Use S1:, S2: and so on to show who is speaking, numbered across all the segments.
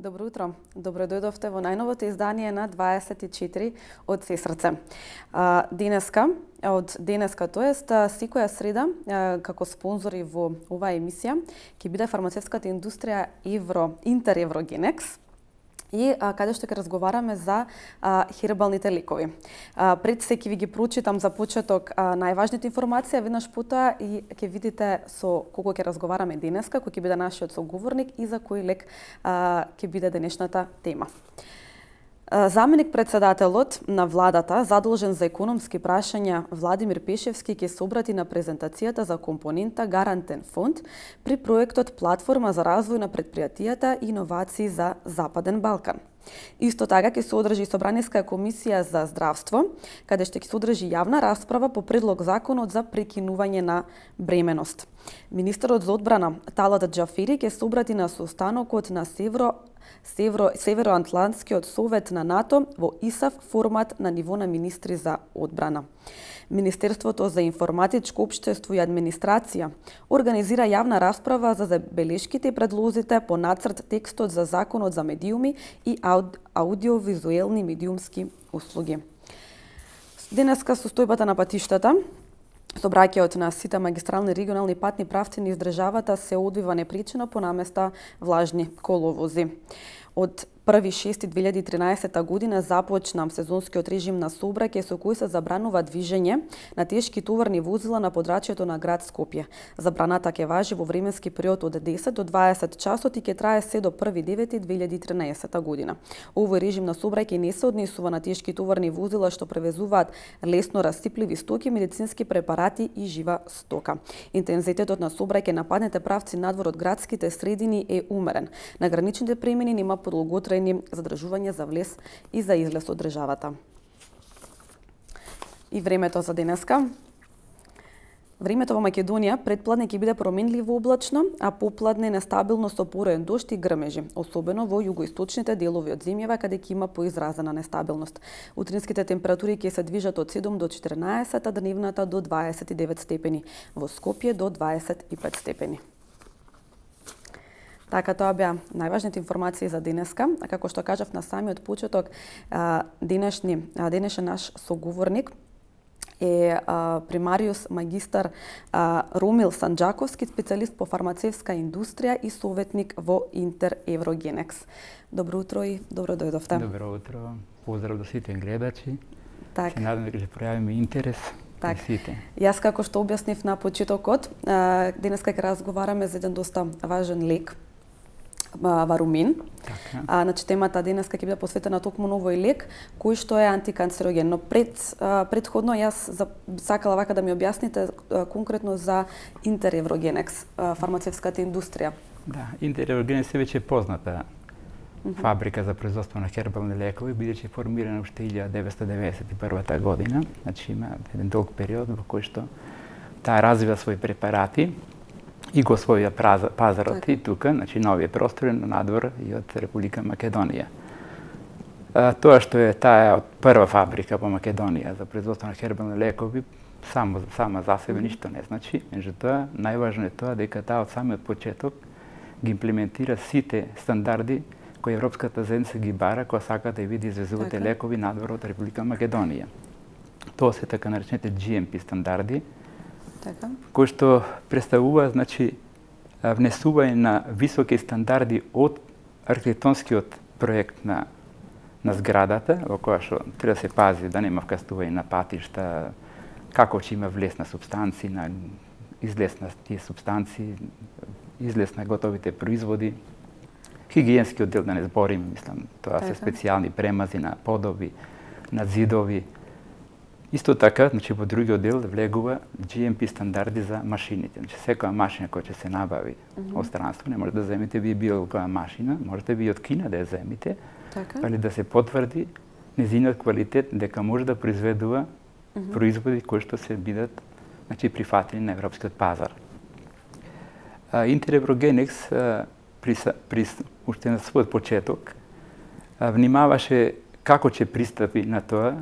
S1: Добро утро. Добро дојдовте во најновото издание на 24 од Се срце. Од денеска, тоест секоја среда, како спонзори во оваа емисија, ќе биде фармацевската индустрија Интереврогенекс, и каде што ќе разговараме за хербалните лекови. Пред се ќе ви ги прочитам за почеток најважните информации, веднаш потоа и ќе видите со кого ќе разговараме денеска, кој ќе биде нашиот соговорник и за кој лек ќе биде денешната тема. Заменик председателот на владата, задолжен за економски прашања Владимир Пешевски, ќе се обрати на презентацијата за компонента Гарантен фонд при проектот Платформа за развој на предпријатијата и иновации за Западен Балкан. Исто така ќе се одржи Собраниска комисија за здравство, каде што ќе се одржи јавна расправа по предлог законот за прекинување на бременост. Министерот за одбрана Талат Џафери ќе се обрати на состанокот на Североатлантскиот совет на НАТО во ИСАФ формат на ниво на министри за одбрана. Министерството за информатичко општество и администрација организира јавна расправа за забелешките и предлозите по нацрт текстот за законот за медиуми и аудиовизуелни медиумски услуги. Денеска состојбата на патиштата, сообраќајот на сите магистрални регионални патни правци низ државата се одвива непречено по наместа влажни коловози. Од 1.6.2013 година започна сезонскиот режим на сообраќај со кој се забранува движење на тешки товарни возила на подрачјето на град Скопје. Забраната ќе важи во временски период од 10 до 20 часот и ќе трае се до 1.9.2013 година. Овој режим на сообраќај не се однесува на тешки товарни возила што превезуваат лесно расипливи стоки, медицински препарати и жива стока. Интензитетот на сообраќај на патните правци надвор од градските средини е умерен. На граничните премини нема подолготрајни задржување за влез и за излез од државата. И времето за денеска. Времето во Македонија предпладне ќе биде променливо облачно, а попладне нестабилно со пороен дожд и грмежи, особено во југоисточните делови од земјава каде ќе има поизразена нестабилност. Утринските температури ќе се движат од 7 до 14, а дневната до 29 степени, во Скопје до 25 степени. Така, тоа беа најважните информации за денеска. А како што кажав на самиот почеток, денешен наш соговорник е примариус магистар Ромил Санџаковски, специјалист по фармацевска индустрија и советник во Интереврогенекс. Добро утро и добро дојдовте.
S2: Добро утро. Поздрав до сите гледачи.
S1: Так.
S2: Се надам дека ќе пројавиме интерес.
S1: Так. Јас како што објаснив на почетокот, денеска ќе разговараме за еден доста важен лек, Варумин.
S2: Така.
S1: Значи темата денеска ќе биде посветена токму на овој лек кој што е антиканцероген. Но предходно јас сакала вака да ми објасните конкретно за Интереврогенекс, фармацевската индустрија.
S2: Да, Интереврогенекс е веќе позната фабрика за производство на хербални лекови, бидејќи е формирана уште 1991 година. Значи има еден долг период во кој што таа развива своји препарати и го освоја пазарот и тука, значи на овие простори надвор и од Република Македонија. Тоа што е таа од прва фабрика по Македонија за производство на хербални лекови, сама за себе ништо не значи. Меѓутоа, најважно е тоа дека таа од самиот почеток ги имплементира сите стандарди кои Европската заедница ги бара кога сака да види извезувате лекови надвор од Република Македонија. Тоа се така наречените GMP стандарди, кои што представува, значи, внесување на високи стандарди од архитектонскиот проект на зградата, во која што треба да се пази да нема вкастување на патишта, како ќе има влез на субстанции, на излез на тие субстанции, излез на готовите производи, хигиенски оддел да не зборим, мислам, тоа се специјални премази на подови, на зидови. Исто така, значи во другиот дел влегува GMP стандарди за машините. Значи секоја машина која ќе се набави од странство, не може да земите вие било која машина, можете вие од Кина да ја земите, али да се потврди незиниот квалитет дека може да произведува производи кои што се бидат, значи, прифатени на европскиот пазар. Интереврогенекс уште на својот почеток внимаваше како ќе пристапи на тоа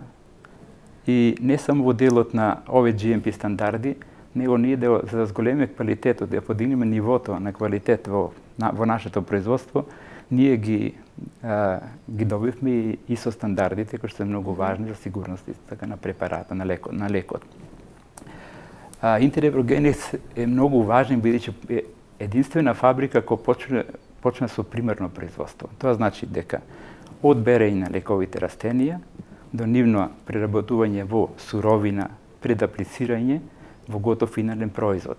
S2: и не само во делот на овие GMP стандарди, него ние за да зголемиме квалитетот, да подигнеме нивото на квалитет во нашето производство, ние ги ги добивме и ISO стандардите кои што се многу важни за сигурност така на препарата, на лекот. Интер Еврогенекс е многу важен бидејќи е единствена фабрика која почна со примерно производство. Тоа значи дека од берење на лековите растенија до нивно преработување во суровина, пред аплицирање во готов финален производ.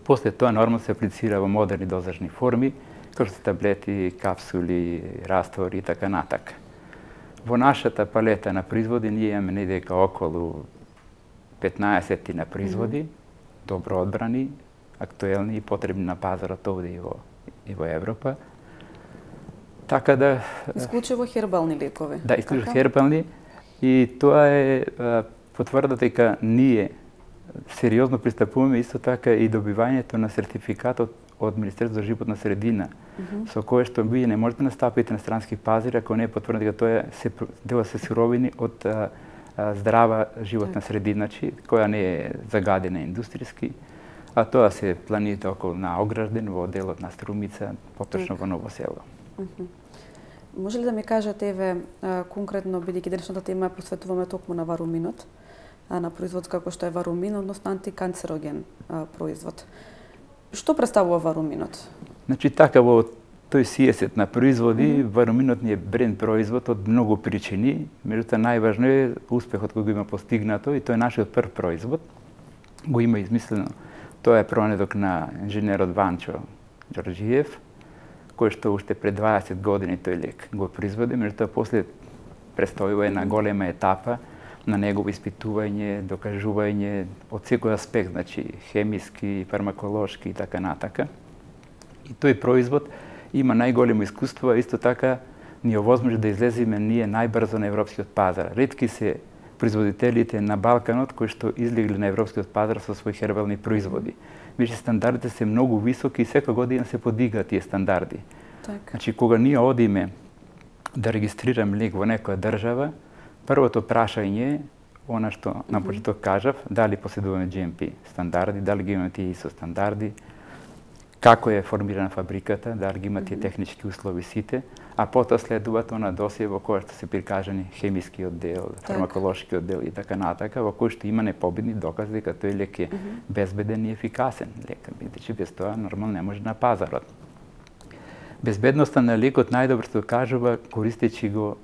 S2: После тоа нормално се аплицира во модерни дозажни форми, како што таблети, капсули, раствори и така натака. Во нашата палета на производи ние имаме недека околу 15 на производи, добро одбрани, актуелни и потребни на пазарот овде и во Европа. Така да...
S1: Исклучиво хербални лекови.
S2: Да, исклучиво хербални. И тоа е потврда дека ние сериозно пристапуваме исто така и добивањето на сертификатот од Министерството за животна средина, со кое што вие не можете да настапите на странски пазари ако не е потврдено дека тоа дела се суровини од здрава животна средина, која не е загадена индустријски, а тоа се планините околу на Огражден, во делот на Струмица, поточно во Ново село.
S1: Може ли да ми кажете, еве, конкретно, бидејќи денешната тема посветуваме токму на варуминот, на производ како што е варумин, односно антиканцероген производ. Што представува варуминот?
S2: Значи така во тој сиесет на производи, варуминот ни е бренд производ од многу причини, меѓутоа најважно е успехот кој го има постигнато и тој е нашиот прв производ. Го има измислено. Тоа е пронедок на инженерот Ванчо Ѓорџиев, кој што уште пред 20 години тој лек го производи, меѓутоа после престојува една голема етапа на негово испитување, докажување од секој аспект, значи хемиски, фармаколошки и така натака. И тој производ има најголемо искуство, а исто така ни овозможи да излеземе ние најбрзо на европскиот пазар. Ретки се производителите на Балканот кои што излегли на европскиот пазар со своји хербални производи. Више стандардите се многу високи и секоја година се подигаат тие стандарди.
S1: Так.
S2: Значи кога ние одиме да регистрираме лек во некоја држава, првото прашање е она што на почеток кажав, дали поседуваме GMP стандарди, дали ги имаме тие ISO стандарди, како е формирана фабриката, дали ги има тие технички услови сите, а потоа следуваат она досие во која што се прикажани хемиски оддел, фармаколошки оддел и така натака, во кој што има непобедни докази дека тој лек е безбеден и ефикасен лек, бидејќи без тоа нормално не може на пазарот. Безбедноста на лекот најдобро се докажува користејќи го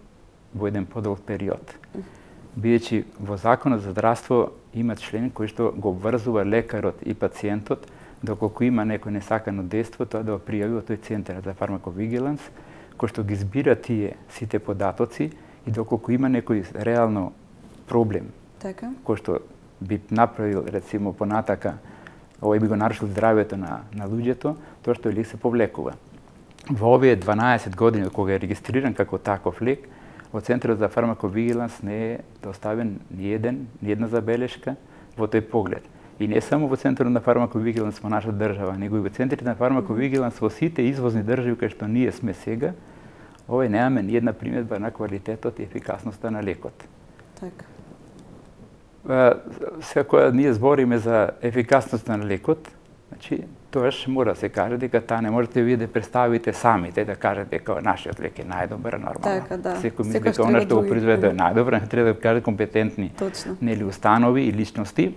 S2: во еден подолг период. Бидејќи во Законот за здравство има член кој што го обврзува лекарот и пациентот доколку има некој несакано дејство, тоа да го пријави во тој центар за фармаковигиланс, кој што ги збира тие сите податоци и доколку има некој реално проблем, кој што би направил, рецимо, понатака, овој би го нарушил здравјето на луѓето, тоа што лек се повлекува. Во овие 12 години кога е регистриран како таков лек, во Центарот за фармаковигиланс не е доставен ни една забелешка во тој поглед. И не само во Центарот на фармаковигиланс во нашата држава, него и во центрите на фармаковигиланс во сите извозни држави кај што ние сме сега, немаме ни една приметба на квалитетот и ефикасноста на лекот.
S1: Така.
S2: Сега кога ние збориме за ефикасноста на лекот, значи тоаш мора да се каже дека таа не можете вие да представите самите, да кажете дека нашиот лек е најдобар, нормално.
S1: Така, да.
S2: Секој мисли дека она што го произведе е најдобар, треба да каже компетентни нели установи и личности.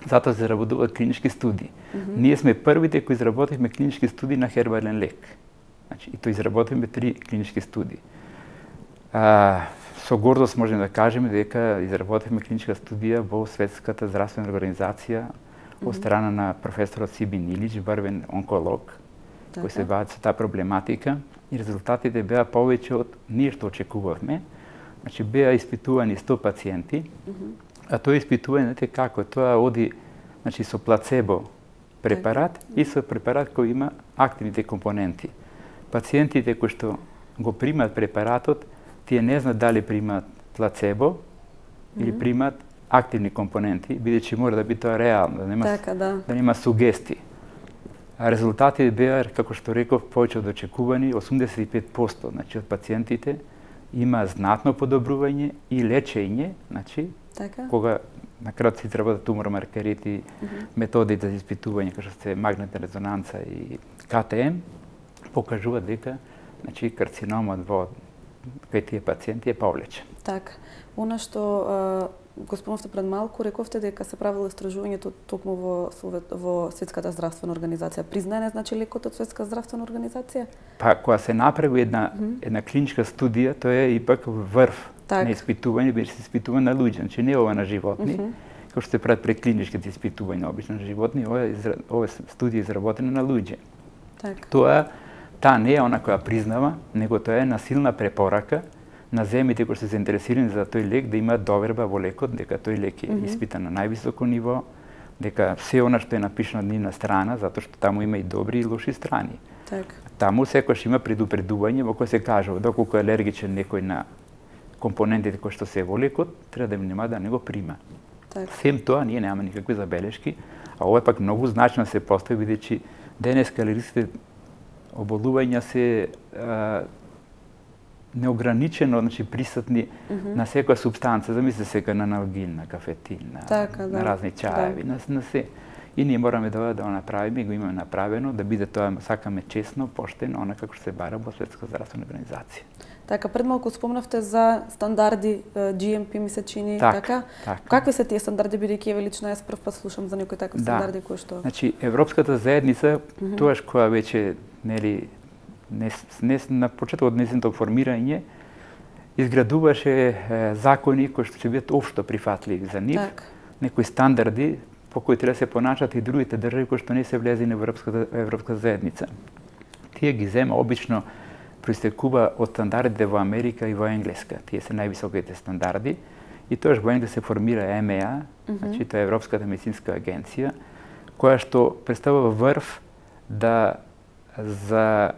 S2: Затоа се работуваат клинички студии. Ние сме првите кои изработивме клинички студии на хербален лек. Значи, и тоа изработивме 3 клинички студии. Со гордост можеме да кажеме дека изработивме клиничка студија во Светската здравствена организација од страна на професорот Сибин Илич, врвен онколог, кој се бави со таа проблематика, и резултатите беа повеќе од ние што очекувавме. Значи, беа испитувани 100 пациенти, а тоа испитување, знаете како, тоа оди со плацебо препарат и со препарат кој има активните компоненти. Пациентите кои што го примат препаратот, тие не знаат дали примат плацебо или примат активни компоненти, бидејќи мора да биде тоа реално, да нема сугести. А резултатите беа, како што реков, повеќе од очекувани, 85%, значи од пациентите има знатно подобрување и лечење, значи кога на крај се изработат тумор-маркерите, методите за испитување како што се магнетна резонанца и КТМ, покажуваат дека Значи, карциномот кај тие пациенти е повлечен.
S1: Така. Она што го спомнавте пред малку, рековте дека се правило истражувањето токму во Светската здравствена организација. Признаен е, значи, лекот од Светска здравствена организација?
S2: Па, кога се направи една клиничка студија, тоа е ипак врв на испитување, беше се испитува на луѓе, значи не ова на животни, како што се прават преклиничките испитувања обично на животни, ова студија изработена на луѓе. Таа не е она која признава, него тоа е една силна препорака на земјите кои се заинтересирани за тој лек да имаат доверба во лекот, дека тој лек е испитан на највисоко ниво, дека се она што е напишано на нивна страна, затоа што таму има и добри и лоши страни. Таму секогаш има предупредување во кој се кажува доколку е алергичен некој на компонентите кои што се во лекот, треба да нема да не го прима. Сем тоа ние немаме никакви забелешки, а ова пак многу значно се постави бидејќи денеска алергичните оболувања се неограничено, значи присутни на секоја супстанца, замисли сега на аналгин, на кафетин, на разни чаеви, на се. И ние мораме да го направиме, го имаме направено, да биде тоа, сакаме честно, поштено, она како што се бара во Светска здравствена организација.
S1: Така, пред малку спомнавте за стандарди GMP, ми се чини, така? Какви се тие стандарди, бидејќи еве лично јас прв пат слушам за некои такви стандарди кои што...
S2: Значи, Европската заедница, тоаш која веќе, нели, не на почетокот од нејзиното формирање, изградуваше закони кои што ќе бидат општо прифатливи за нив, некои стандарди по кои треба да се поначат и другите држави кои што не се влезли на Европска заедница. Тие ги зема обично проистекува од стандардите во Америка и во Енглеска. Тие се највисоките стандарди. И тоаш во Енглеска се формира EMEA, значи тоа е Европската медицинска агенција, која што представува врв за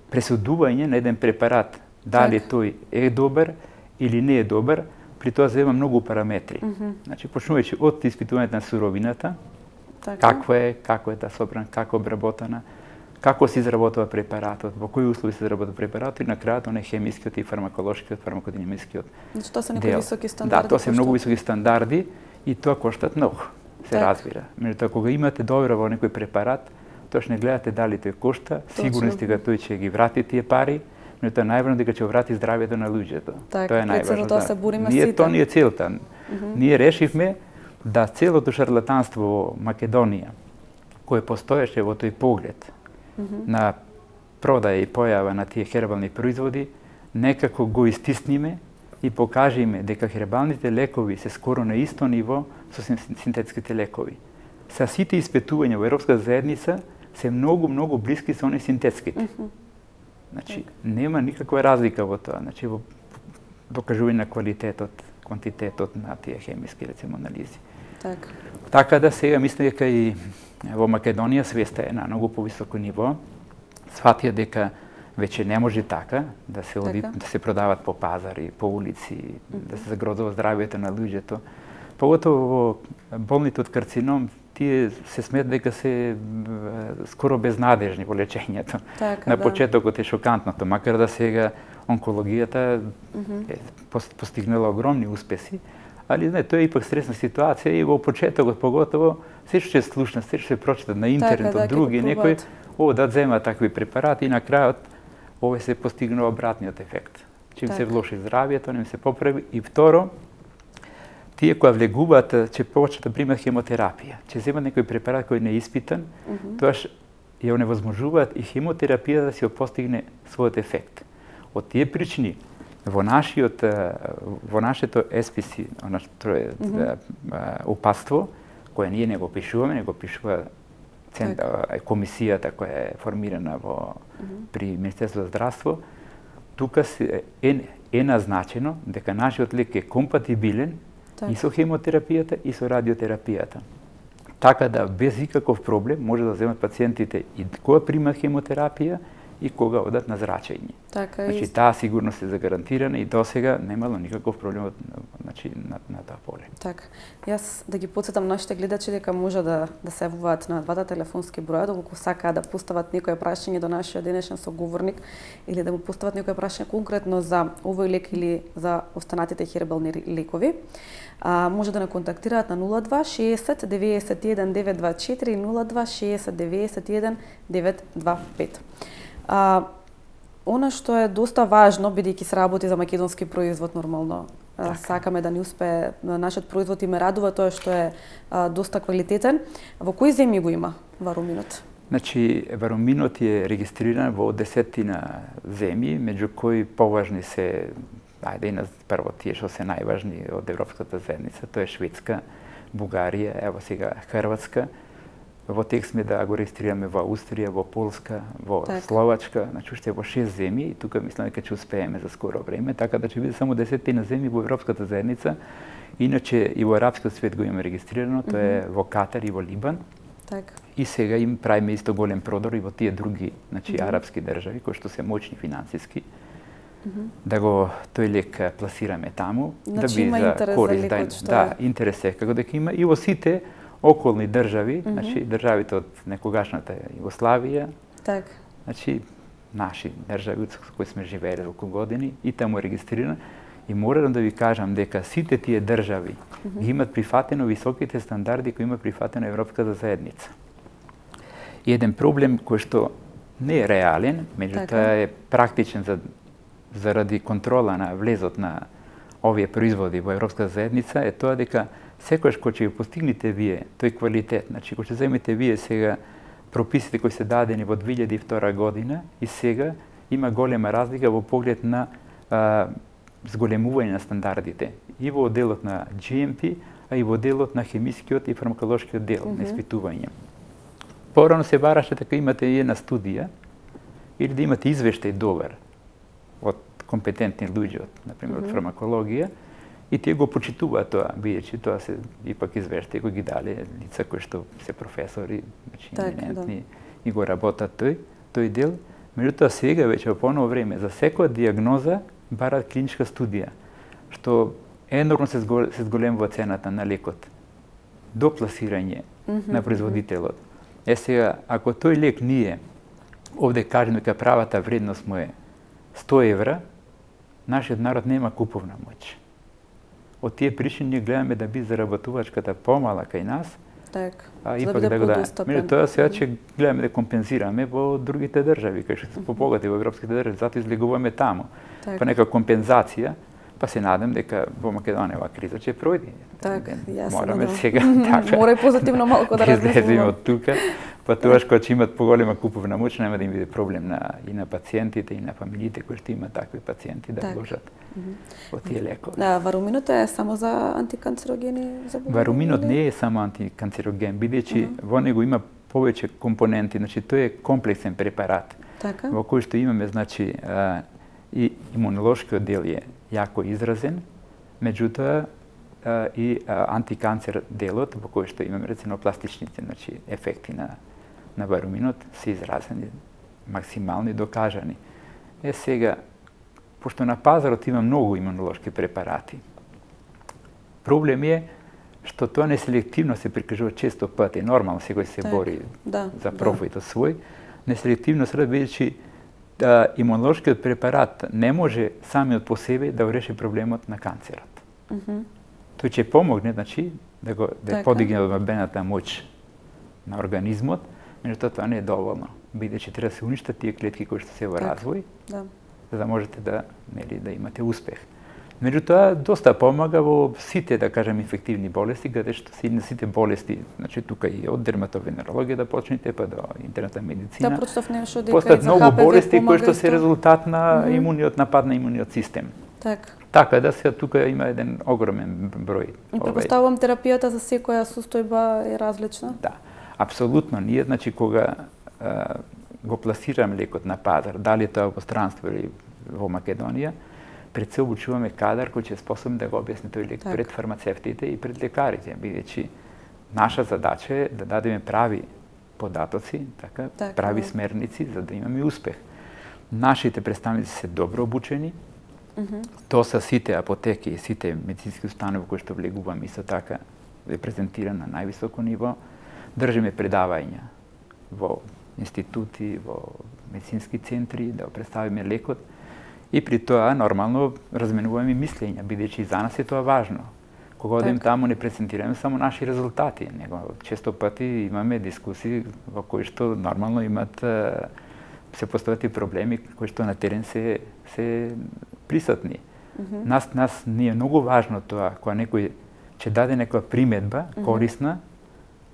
S2: пресудување на еден препарат, дали тој е добар или не е добар, при тоа зема многу параметри. Значи, почнувајќи од испитувањето на суровината, како е таа собрана, како обработена, како се изработува препаратот, во кои услови се изработува препаратот и на крајот оној хемискиот и фармаколошкиот, фармакодинамискиот дел.
S1: Значи, тоа се некои високи стандарди.
S2: Да, тоа се многу високи стандарди и тоа коштат многу, се разбира. Меѓутоа, кога имате доверба во некој препарат, тоаш не гледате дали тој кошта, сигурни сте дека тој ќе ги врати тие пари, но тоа е најважно дека ќе врати здравјето на луѓето. Тоа е најважно.
S1: Тоа се бориме сите.
S2: Тоа ни е целта. Ние решивме да целото шарлатанство во Македонија, кое постоеше во тој поглед на продаја и појава на тие хербални производи, некако го истисниме и покажеме дека хербалните лекови се скоро на исто ниво со синтетските лекови. Са сите испитувања во Европска заедница се многу блиски со оние синтетските. Значи, нема никаква разлика во тоа, значи во докажување на квалитетот, квантитетот на тие хемиски, рецимо, анализи. Така да сега мислам дека и во Македонија свеста е на многу повисоко ниво. Сватија дека веќе не може така да се оди, да се продават по пазари, по улици, да се загрозува здравјето на луѓето. Поготово во болните од карцином, тие се смет дека се скоро безнадежни во лечењето. На почетокот е шокантното, макар да сега онкологијата е постигнала огромни успеси, али тоа е ипак стресна ситуација и во почетокот поготово се што се слушна, се што се прочита на интернет од други некои, да зема такви препарати и на крајот овој се постигнува обратниот ефект. Чим се влоши здравјето, не се поправи и второ, тие кои влегуваат, ќе почнат да примат хемотерапија, ќе земат некој препарат кој не е испитан, тоаш ја оневозможуваат и хемотерапија да се постигне својот ефект. Од тие причини, во нашето SPC, опатство, кое ние не го пишуваме, не го пишува комисијата која е формирана при Министерството за здравство, тука е назначено дека нашиот лек е компатибилен и со хемотерапијата и со радиотерапијата. Така да без никаков проблем може да земат пациентите и кога примат хемотерапија и кога одат на зрачење. Значи таа сигурност е загарантирана и досега немало никаков проблем на таа поле.
S1: Така. Јас да ги потсетам нашите гледачи дека може да се јавуваат на двата телефонски броја, доколку сакаат да постават некое прашање до нашиот денешен соговорник или да му постават некое прашање конкретно за овој лек или за останатите хербални лекови. Може да не контактираат на 02 60 91 924 02 60 91 925. Она што е доста важно, бидејќи се работи за македонски производ нормално, сакаме да ни успее нашиот производ и ме радува тоа што е доста квалитетен. Во кои земји го има варуминот?
S2: Значи, варуминот е регистриран во 10 земји, меѓу кои поважни се, прво тие што се најважни од Европската заедница, тоа е Шведска, Бугарија, ево сега Хрватска. Во тек сме да го регистрираме во Австрија, во Полска, во Словачка, значи уште во 6 земји и тука мислам дека ќе успееме за скоро време, така да ќе биде само 10 земји во Европската заедница. Иначе и во арапскиот свет го имаме регистрирано, тоа е во Катар и во Либан. И сега им правиме исто голем продор и во тие други, значи арапски држави кои што се моćни финансиски. Да го тој лек пласираме таму,
S1: значи,
S2: да би за корист, интерес е како дека има и во сите околни држави, значи државите од некогашната Југославија, значи наши држави со кои сме живееле околу години и таму е регистрирано. И морам да ви кажам дека сите тие држави ги имат прифатено високите стандарди кои има прифатено Европската заедница. И еден проблем кој што не е реален, меѓутоа е практичен заради контрола на влезот на овие производи во Европската заедница е тоа дека секојаш кога ќе го постигнете вие тој квалитет, значи кога ќе земете вие сега прописите кои се дадени во 2002 година и сега има голема разлика во поглед на зголемување на стандардите и во делот на GMP, а и во делот на хемискиот и фармаколошкиот дел на испитување. Порано се бараше дека имате една студија или да имате извештај добар од компетентни луѓе, например од фармакологија, и тие го почитуваат тоа, бидејќи тоа се ипак извештаи кои ги дале лица кои што се професори, значи еминентни и го работат тој дел. Меѓутоа сега веќе во поново време за секоја дијагноза бараат клиничка студија, што енормно се зголемува цената на лекот до пласирање на производителот. Сега, ако тој лек ние овде кажеме дека правата вредност му е 100 евра, нашиот народ нема куповна моќ. Од тие причини ние гледаме да би заработувачката помала кај нас, а ипак да го меѓутоа сега ќе гледаме да компензираме во другите држави, кај што се побогати во европските држави, затоа излегуваме таму. Па нека компензација, па се надам дека во Македонија оваа криза ќе пројде. Мораме сега
S1: мора и позитивно малку да размислиме
S2: од тука, па тоа кога ќе имат поголема куповна моќ нема да им биде проблем и на пациентите и на фамилиите кои што имаат такви пациенти да вложат во тие лекови.
S1: Варуминот е само за антиканцерогени заболувања?
S2: Варуминот не е само антиканцероген, бидејќи во него има повеќе компоненти, значи тој е комплексен препарат. Во кој што имаме значи и имунолошкиот дел е јако изразен, меѓутоа и антиканцер делот во кој што имаме рецинопластичните, значи ефекти на варуминот се изразени максимално и докажани. Сега, пошто на пазарот има многу имунолошки препарати, проблем е што тоа неселективно се прикажува често пати, нормално секој се бори за профитот свој, неселективно се бидејќи имунолошкиот препарат не може самиот по себе да го реши проблемот на канцерот. Тој ќе помогне, значи, да подигне одбраната моќ на организмот, меѓутоа тоа не е доволно, бидејќи треба да се уништат тие клетки кои што се во развој, за да можете да имате успех. Меѓутоа, доста помага во сите, да кажем, инфективни болести, каде што сите болести, значи тука и од дерматовенерологија да почнете, па до интерната медицина.
S1: Да, прочитав нешто дека
S2: постат многу болести кои што се резултат на напад на имуниот систем. Така да се тука има еден огромен број.
S1: Предпоставувам терапијата за секоја состојба е различна?
S2: Да, апсолутно. Ние, значи, кога го пласираме лекот на пазар, дали тоа во странство или во Македонија, пред се обучуваме кадар кој ќе е способен да го објасни тој лек пред фармацевтите и пред лекарите, бидејќи наша задача е да дадеме прави податоци, прави смерници за да имаме успех. Нашите представници се добро обучени. Тоа са сите апотеки и сите медицински установи кои што влегуваме исто така е презентиран на највисоко ниво. Држиме предавања во институти, во медицински центри, да го представиме лекот. И при тоа, нормално, разменуваме мислења, бидејќи за нас е тоа важно. Кога одем таму, не презентираме само наши резултати, него често пати имаме дискусии во кои што нормално имат се постават и проблеми кои што на терен се присутни. Нас ни е многу важно тоа, кога некој ќе даде некоја приметба корисна,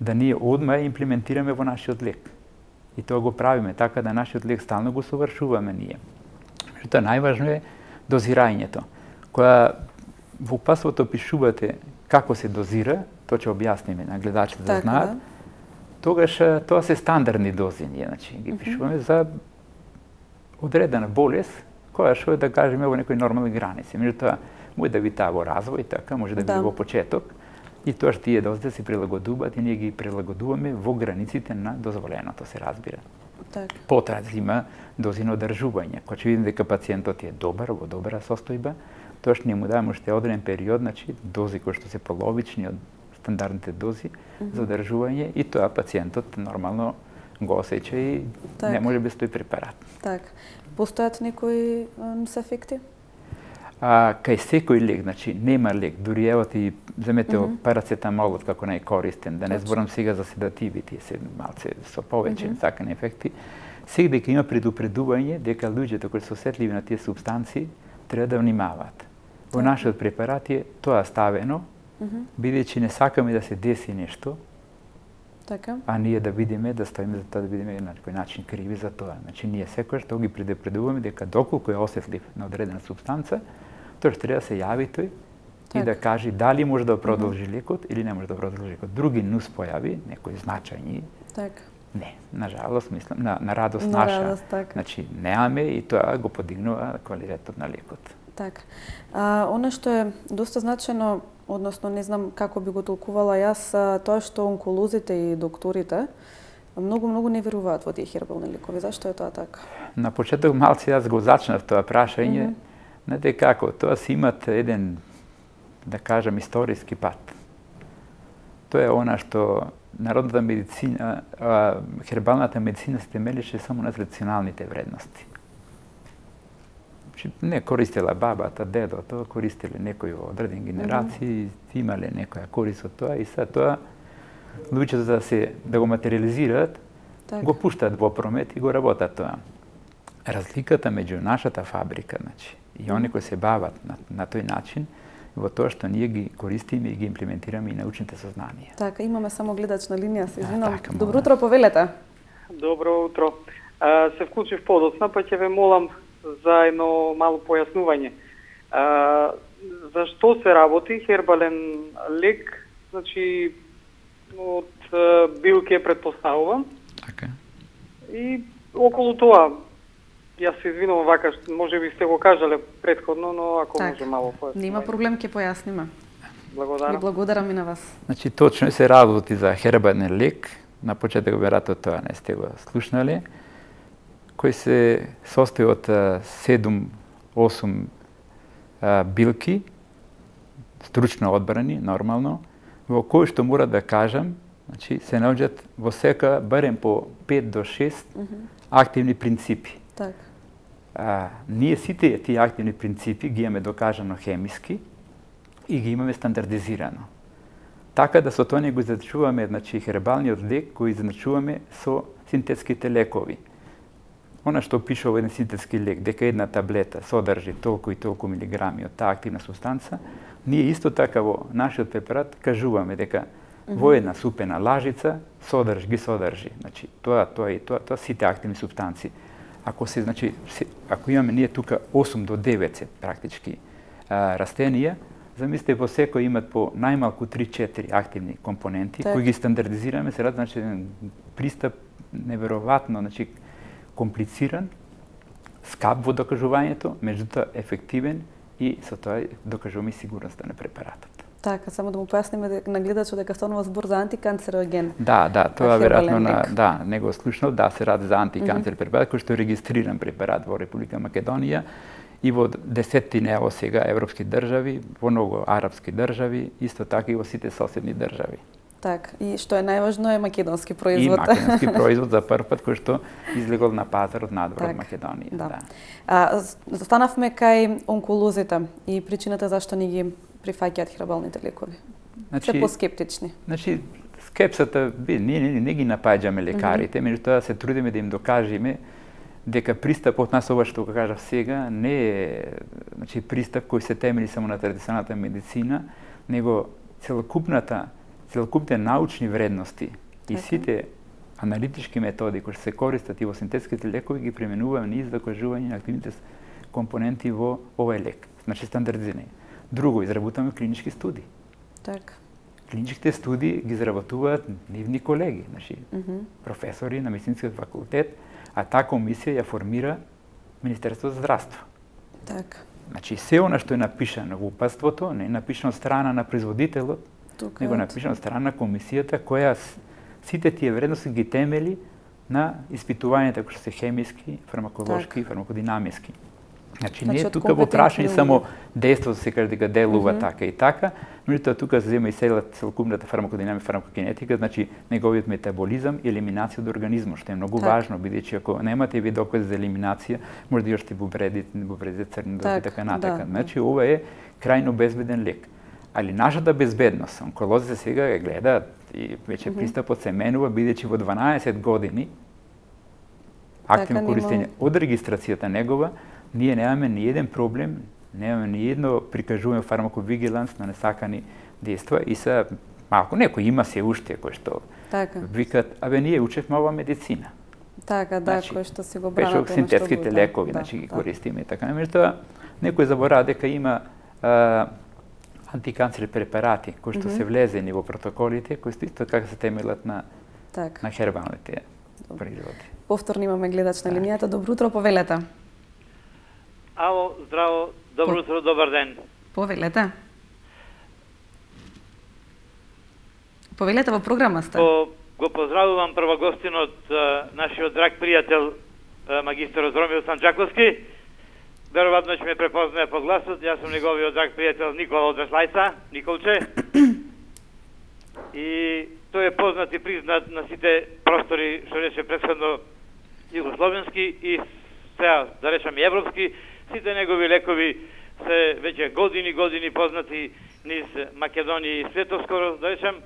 S2: да ние одма имплементираме во нашиот лек. И тоа го правиме така да нашиот лек стално го совршуваме ние. Меѓутоа најважно е дозирањето. Кога во упатството пишувате како се дозира, тоа ќе објасниме на гледачите да знаат. Тогаш тоа се стандардни дози ние, значи ги пишуваме за одредена болест, која што е да кажеме во некои нормални граници. Меѓутоа може да би таа во развој, така може да биде во почеток. И тоа што тие дози се прилагодуваат и ние ги прилагодуваме во границите на дозволеното, се разбира.
S1: Так.
S2: Потоа има дози на одржување. Кога ќе видиме дека пациентот е добар, во добра состојба, тоа што ние му даваме уште одреден период, значи дози кои што се половични од стандардните дози за одржување и тоа пациентот нормално го осеќа и не може без тој препарат.
S1: Так. Постојат некои ефекти?
S2: Кај секој лек, значи нема лек, дури ево ти земете парацетамолот како најкористен, да не зборам сега за седативите, се малце со повеќе сакани ефекти, сега дека има предупредување дека луѓето кои се осетливи на тие супстанции треба да внимаваат. Во нашиот препарат е тоа ставено, бидејќи не сакаме да се деси нешто, а ние да видиме, да стоиме за тоа, да видиме на некој начин криви за тоа. Значи ние секогаш тоа ги предупредуваме дека доколку е осетлив на одредена супстанца, тој треба да се јави тој и да каже дали може да продолжи лекот или не може да продолжи лекот. Други нус појави, некои значајни, не, на жалост, мислам, на радост наша, значи неаме и тоа го подигнува квалитетот на лекот.
S1: Так. Она што е доста значено, односно не знам како би го толкувала јас, тоа што онколозите и докторите многу не веруваат во тие хербални лекови. Зашто е тоа така?
S2: На почеток малце јас го зачнав тоа прашање. Знаете како, тоа си имат еден, да кажам, историски пат. Тоа е она што народната медицина, хербалната медицина се темелеше само на традиционалните вредности. Не користела бабата, дедото, користеле некои во одредени генерации, имале некоја корист од тоа и сега тоа луѓето да го материализираат, го пуштаат во промет и го работат тоа. Разликата меѓу нашата фабрика, значи, и они кои се бават на тој начин, во тоа што ние ги користиме и ги имплементираме и научните сознанија.
S1: Така, имаме само гледач на линија, се извинам. Добро утро, повелете.
S3: Добро утро. Се вклучив подоцна, па ќе ве молам за едно мало појаснување. За што се работи хербален лек, значи од билки е предпоставуван.
S2: Така.
S3: И околу тоа, јас се извинувам вака, може би сте го кажале претходно, но ако може мало појаснување.
S1: Нема проблем, ќе појасниме.
S3: Благодарам.
S1: Ви благодарам и на вас.
S2: Значи точно се работи за хербален лек, на почеток веројатно тоа не сте го слушнале, кој се состои од 7-8 билки, стручно одбрани, нормално, во кои што мора да кажам, значи, се наоѓаат во сека барем по 5 до 6 активни принципи. Ние сите тие активни принципи ги имаме докажано хемиски и ги имаме стандардизирано. Така да со тоа не го изначуваме, значи, хербалниот лек го изначуваме со синтетските лекови. Она што пише во еден синтетски лек, дека една таблета содржи толку и толку милиграми од таа активна субстанца, ние исто така во нашиот препарат кажуваме дека во една супена лажица ги содржи. Значи, тоа и тоа сите активни субстанции. Ако имаме ние тука 8 до 9 практички растенија, замислите во секој имат по најмалку 3-4 активни компоненти, кои ги стандардизираме, се рад, значи, пристап неверојатно, значи, комплициран, скап во докажувањето, меѓутоа ефективен и со тоа докажуваме сигурноста на препаратот.
S1: Така, само да му појасниме на гледачот дека станува збор за антиканцероген.
S2: Да, тоа веројатно не го слушнав, се ради за антиканцер препарат кој што е регистриран препарат во Република Македонија и во десеттина ево сега европски држави, во многу арапски држави, исто така и во сите соседни држави.
S1: Така, и што е најважно е македонски производ.
S2: И македонски производ за прв пат кој што излегол на пазарот надвор од Македонија.
S1: Застанавме кај онколозите и причината зашто ни ги прифаќаат хербалните лекови. Се поскептични.
S2: Значи, скепсата, ние не ги напаѓаме лекарите, меѓутоа се трудиме да им докажеме дека пристапот нас ова што го кажав сега не е пристап кој се темели само на традиционалната медицина, него целокупните научни вредности и сите аналитички методи кои се користат и во синтетските лекови ги применуваме низ докажување на активните компоненти во овој лек. Значи стандардизирање. Друго, изработуваме клинички студии.
S1: Така.
S2: Клиничките студии ги изработуваат нивни колеги, значи професори на медицинскиот факултет, а таа комисија ја формира Министерството за здравство.
S1: Така.
S2: Значи се она што е напишано во упатството, не е напишано од страна на производителот, него е напишано од страна на комисијата која сите тие вредности ги темели на испитувањата кои се хемиски, фармаколошки и фармакодинамиски. Значи не е тука во прашање само дејството се каже дека делува така и така, меѓутоа тука се зема и целокупната фармакодинамика, фармакогенетика, значи неговиот метаболизам и елиминација од организмот, што е многу важно, бидејќи ако немате ви докази за елиминација, може да јоште во вредите црни доза и така натака. Значи ова е крајно безбеден лек. Али нашата безбедност, онколозите сега ја гледаат и веќе пристапот се менува, бидејќи во 12 години активно користење од регистрацијата негова, ние немаме ни еден проблем, немаме ни едно прикажуваме фармаковигиланс на несакани дејства и се малку некој има се уште кој што викат, ние учевме ова медицина.
S1: Така, кој што си го бранат.
S2: Пешо синтетските лекови, значи ги користиме и така. Меѓутоа, некој заборава дека има антиканцерни препарати кои што се влезени во протоколите, кои што исто така се темелат на хербалните производи.
S1: Повторно имаме гледач на линијата. Добро утро, повелете.
S4: Ало, здраво, добро утро, добар ден.
S1: Повелете. Повелете, во програма сте.
S4: Го поздравувам прво гостинот, нашиот драг пријател, магистерот Ромил Санџаковски. Веројатно ќе ме препознае по гласот. Јас сум неговиот драг пријател Никола од Веслајца, Николче. И тој е познат и признат на сите простори, што рече претходно југословенски и сега, да речам и европски. Сите негови лекови се веќе години познати низ Македонија и светот скоро, да речем.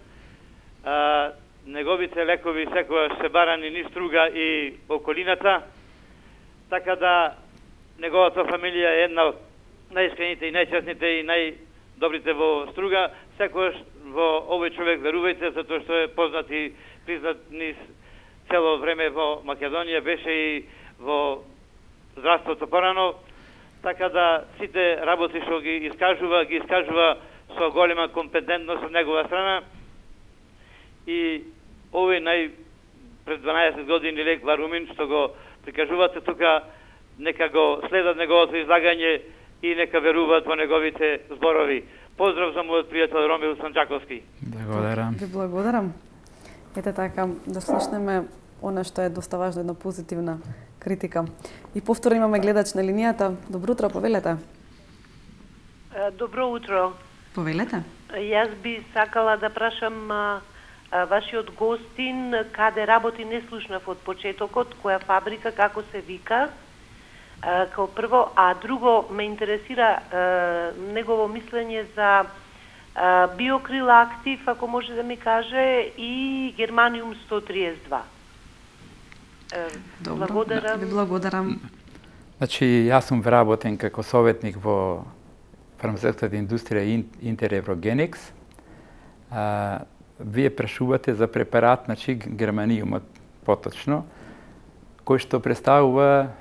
S4: Неговите лекови секогаш се барани низ Струга и околината, така да неговата фамилија е една од најискрените и најчестните и најдобрите во Струга. Секогаш во овој човек верувајте, затоа што е познат и признат низ цело време во Македонија, беше и во здравството порано, така да сите работи што ги искажува со голема компетентност од негова страна. И овој пред 12 години лек Варумин што го прикажувате тука, нека го следат неговото излагање и нека веруваат во неговите зборови. Поздрав за мојот пријател Ромил Санџаковски.
S2: Благодарам.
S1: Ви благодарам. Ете така, да слушнеме она што е доста важно, една позитивна критика. И повторно имаме гледач на линијата. Добро утро, повелете.
S5: Добро утро.
S1: Повелете.
S5: Јас би сакала да прашам вашиот гостин каде работи, не слушнав од почетокот, која фабрика, како се вика, као прво, а друго ме интересира негово мислење за биокрил актив, ако може да ми каже, и германиум 132.
S1: Добро, благодарам. Ви благодарам.
S2: Значи, јас сум вработен како советник во фармацевтската индустрија Интереврогеникс. Вие прашувате за препарат, значи германиумот поточно, кој што представува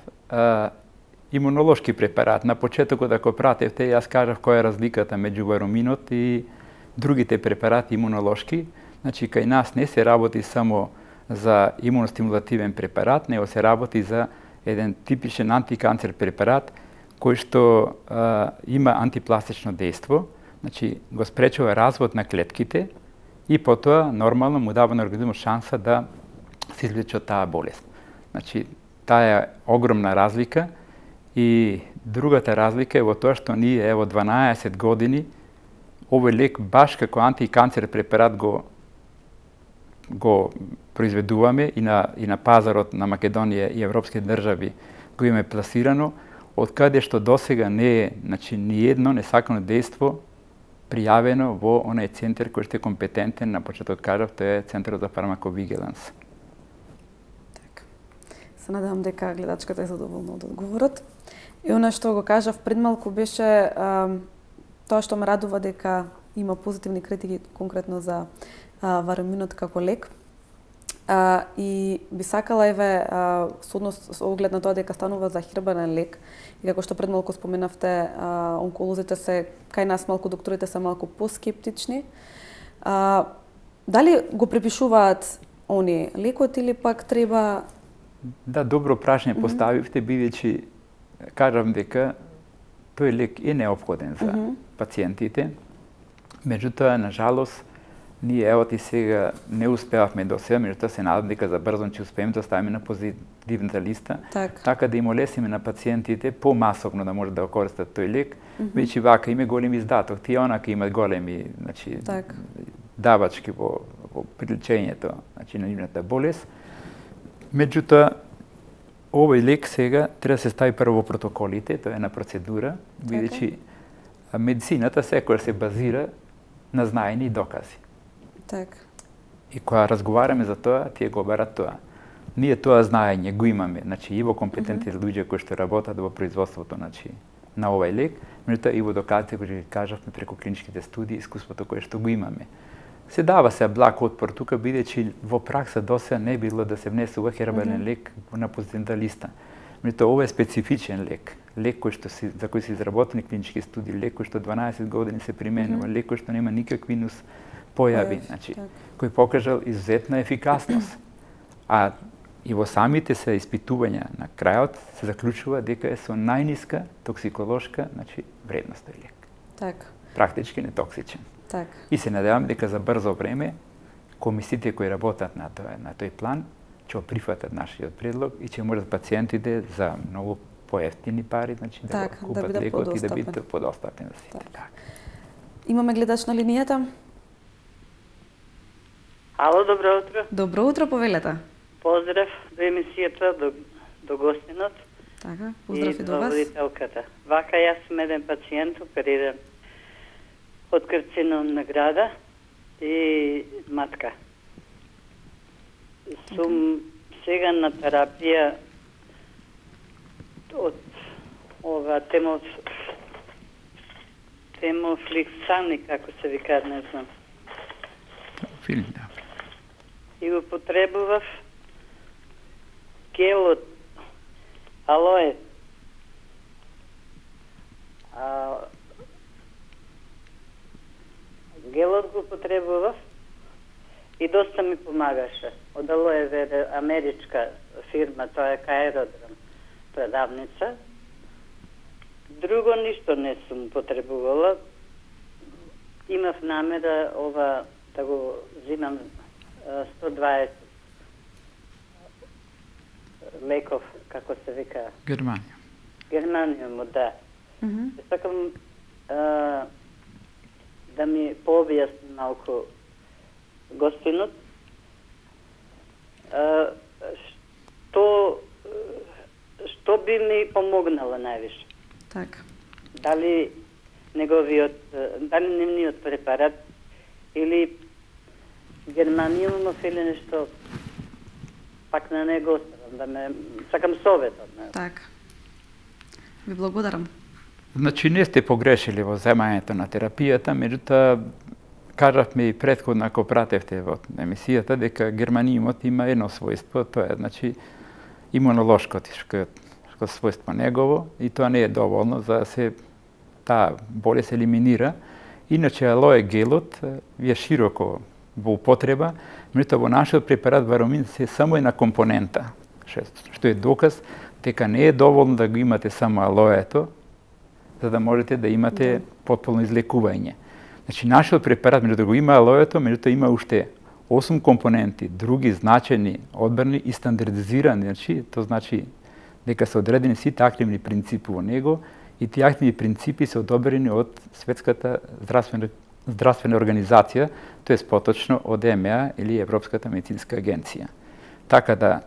S2: имунолошки препарат. На почетокот, ако пратевте, јас кажав која е разликата меѓу варуминот и другите препарати имунолошки. Значи, кај нас не се работи само за имуностимулативен препарат, него се работи за еден типичен антиканцер препарат кој што има антипластично дејство, значи го спречува развод на клетките и потоа нормално му дава на организмот шанса да се излечи од таа болест. Значи, таа е огромна разлика и другата разлика е во тоа што ние ево 12 години овој лек баш како антиканцер препарат го произведуваме и на пазарот на Македонија и европски држави го имаме пласирано, од каде што досега не е, значи, ни едно несакано дејство пријавено во онај центар кој што е компетентен, на почеток кажав, тоа е Центарот за фармаковигиланс.
S1: Се надевам дека гледачката е задоволна од одговорот. И она што го кажав пред малку беше тоа што ме радува дека има позитивни критики конкретно за вараминот како лек. И би сакала со оглед на тоа дека станува за хербален лек и како што пред малку споменавте, онколозите се кај нас малку, докторите се малку поскептични. Дали го препишуваат они лекот или пак треба?
S2: Да, добро прашање поставивте, бидејќи кажам дека тој лек е неопходен за пациентите. Меѓутоа, на жалост, ние ево и сега не успеавме до сега, меѓутоа се надам дека за брзо ќе успееме да ставиме на позитивната листа, така да им олесиме на пациентите помасовно да може да го користат тој лек, веќе вака има голем издаток, тие онака имат големи, значи, давачки во прилечењето, значи, на нивната болест. Меѓутоа, овој лек сега треба да се стави прво во протоколите, тоа е на процедура, бидејќи медицината секогаш се базира на знаење и докази. И кога разговараме за тоа, тие го барат тоа. Ние тоа знаење го имаме, значи и во компетентни луѓе кои што работат во производството, значи на овој лек, меѓутоа и во доказите кои кажавме преку клиничките студии, искуството кое што го имаме. Се дава се благ отпор тука, бидејќи во пракса досега не било да се внесува хербален лек на позитивната листа. Меѓутоа ова е специфичен лек, лек кој што за кој се изработени клинички студии, лек кој што 12 години се применува, лек кој што нема никакви нус појави, значи кој покажал изузетна ефикасност. А и во самите се испитувања на крајот се заклучува дека е со најниска токсиколошка, значи вредност тој лек. Практички нетоксичен. И се надевам дека за брзо време комисиите кои работат на тој план ќе прифатат нашиот предлог и ќе можат пациентите за многу поевтини пари, значи да купат лекот и да биде подостапен за сите.
S1: Имаме гледач на линијата.
S6: Ало, добро утро.
S1: Добро утро, повелете.
S6: Поздрав до емисијата, до гостинот.
S1: Поздрав и до вас.
S6: И до водителката. Вака јас сум еден пациент опериран од карцином на града и матка. Сум сега на терапија од ова темофликсани, како се вика, не знам. И го потребував гелот алоe. Гелот го потребував и доста ми помагаше. Од алоe вера, америчка фирма, тоа е Аеродром продавница. Друго ништо не сум потребувала. Имав намера ова да го зимам 120 леков, како се вика? Германиум, да. Сакам да ми пообјасни малку гостинот. Што би ми помогнало највише? Дали нивниот препарат или германиумов или нешто, пак на него оставам, да ме сакам советот.
S1: Ви благодарам.
S2: Значи не сте погрешили во земањето на терапијата, меѓутоа кажавме и претходно ако пратевте во емисијата дека германиумот има едно својство, тоа е значи имунолошко својство негово и тоа не е доволно за да се таа болест елиминира. Иначе алоe гелот е широко во употреба, меѓутоа во нашиот препарат варамин се само една компонента, што е доказ дека не е доволно да го имате само алоето, за да можете да имате потполно излекување. Значи, нашиот препарат, меѓу да го има алоето, меѓутоа има уште 8 компоненти, други значени, одбрани и стандардизирани. Значи, тоа значи дека се одредени сите активни принципи во него и тие активни принципи се одобрени од Светската здравствена организација, тоа е поточно од ЕМЕА или Европската медицинска агенција. Така да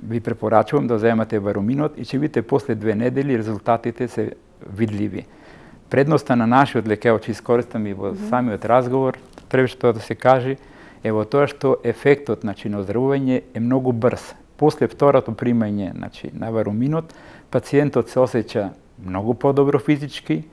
S2: ви препорачувам да земате вараминот и ќе видите после 2 недели резултатите се видливи. Предноста на нашиот лек, ќе искористам и во самиот разговор, првично да се каже, е во тоа што ефектот на оздравување е многу брз после второто примање, значи на варуминот, пациентот се осеќа многу подобро физички,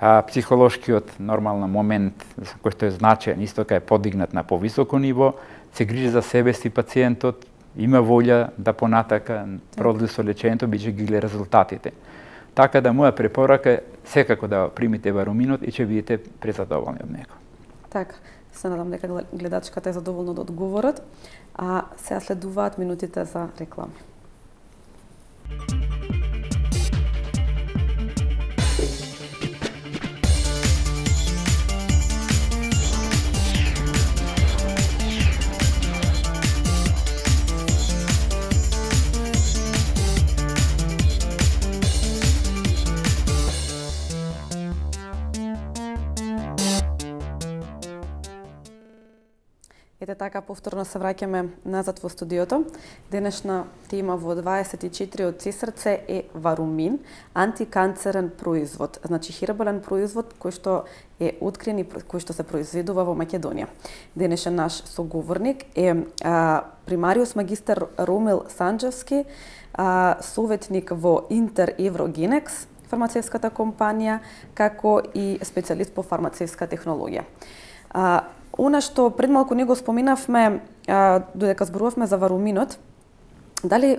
S2: а психолошкиот нормален момент кој што е значаен, исто кај е подигнат на повисоко ниво, се грижи за себе си пациентот, има волја да понатака продолжи со лечењето, бидејќи ги гледа резултатите. Така да моја препорака е секако да примите варуминот и ќе бидете презадоволни од него.
S1: Така, се надам дека гледачката е задоволна од одговорот, а сега следуваат минутите за реклами. Ете така, повторно се враќаме назад во студиото. Денешна тема во 24 од Цесарце е варумин, антиканцерен производ. Значи хербален производ кој што е открен и кој што се произведува во Македонија. Денешен наш соговорник е примариус магистар Ромил Санџевски, советник во Интер Еврогенекс, фармацевската компанија, како и специјалист по фармацевска технологија. Она што пред малку не го споменавме, додека зборувавме за варуминот, дали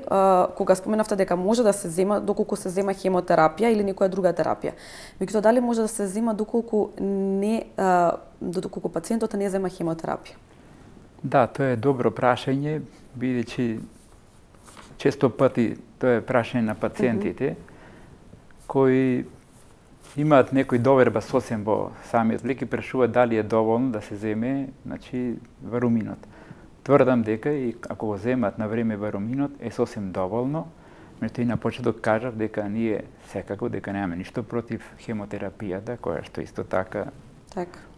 S1: кога споменавте дека може да се зема доколку се зема хемотерапија или некоја друга терапија, меѓутоа дали може да се зема доколку пациентот не зема хемотерапија?
S2: Да, тоа е добро прашање, бидејќи често пати тоа е прашање на пациентите кои имаат некој доверба сосем во самиот лек и прашуваат дали е доволно да се земе, значи, варуминот. Тврдам дека и ако го земат на време варуминот е сосем доволно, меѓутоа и на почеток кажав дека ние секако дека немаме ништо против хемотерапијата, која што исто така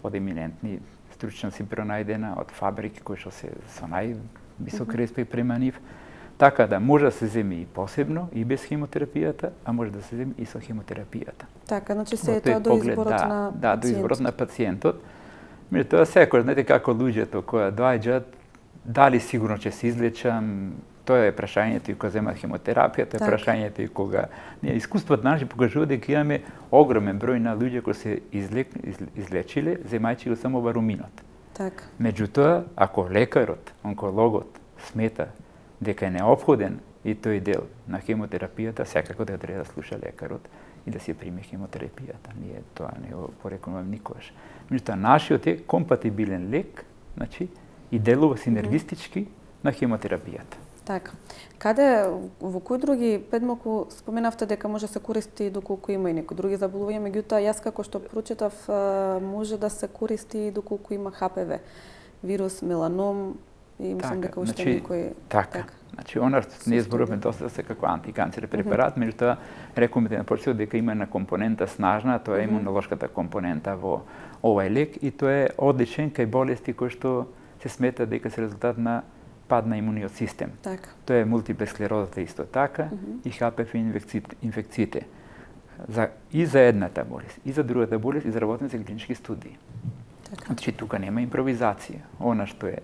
S2: од еминентни стручњаци пронајдена од фабрики кои што се со највисок респект према нив. Така да може да се земи и посебно и без хемотерапијата, а може да се земи и со хемотерапијата.
S1: Така, значи се е тоа до изборот на пациентот. Да,
S2: до изборот на пациентот. Меѓутоа секој, знаете како луѓето кои доаѓаат, дали сигурно ќе се излечам, тоа е прашањето и кога земат хемотерапија, тоа е прашањето и кога ние искуството наши покажува дека имаме огромен број на луѓе кои се излечиле земајќи го само варуминот.
S1: Така.
S2: Меѓутоа, ако лекарот, онкологот смета дека е неопходен и тој дел на хемотерапијата, секако да треба да слуша лекарот и да си приме хемотерапијата. Ние тоа не го порекомендувам никогаш. Меѓутоа, нашиот е компатибилен лек, значи, и делува синергистички на хемотерапијата.
S1: Така. Каде, во кои други, пред малку споменавте дека може да се користи доколку има и некои други заболувања, меѓутоа јас како што прочитав може да се користи доколку има ХПВ, вирус, меланом, и мислам дека уште некој...
S2: Така. Значи, она што ние зборуваме доста се како антиканцерен препарат, меѓутоа рекомендуваме на почеток дека има една компонента снажна, тоа е имунолошката компонента во овај лек и тоа е одличен кај болести кои што се смета дека се резултат на пад на имуниот систем.
S1: Така.
S2: Тоа е мултипла склерозата исто така и ХПВ инфекциите. И за едната болест, и за другата болест изработени се клинички студии.
S1: Така.
S2: Значи, тука нема импровизација. Она што е